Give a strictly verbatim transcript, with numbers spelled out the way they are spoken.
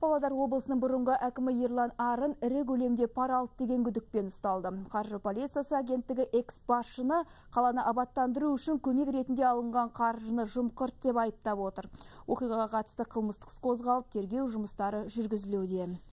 Павлодар облысының бұрынғы әкімі Ерлан Арын ірі көлемде пара алды деген күдікпен ұсталды. Қаржы полициясы агенттігі экс-басшыны қаланы абаттандыру үшін көмек ретінде алынған қаржыны жымқырт деп айыптап отыр. Оқиғаға қатысты қылмыстық іс қозғалып, тергеу жұмыстары жүргізілуде.